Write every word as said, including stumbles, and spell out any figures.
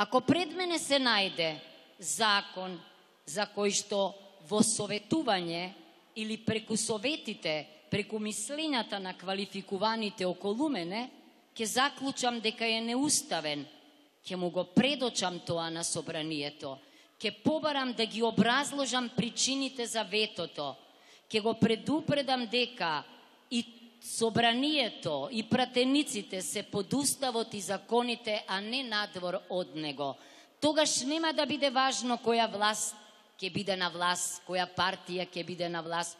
Ако пред мене се најде закон за кој што во советување или преку советите, преку мислењата на квалификуваните околу мене, ќе заклучам дека е неуставен, ќе му го предочам тоа на собранието, ќе побарам да ги образложам причините за ветото, ќе го предупредам дека и собранието и пратениците се под уставот и законите, а не надвор од него. Тогаш нема да биде важно која власт ќе биде на власт, која партија ќе биде на власт,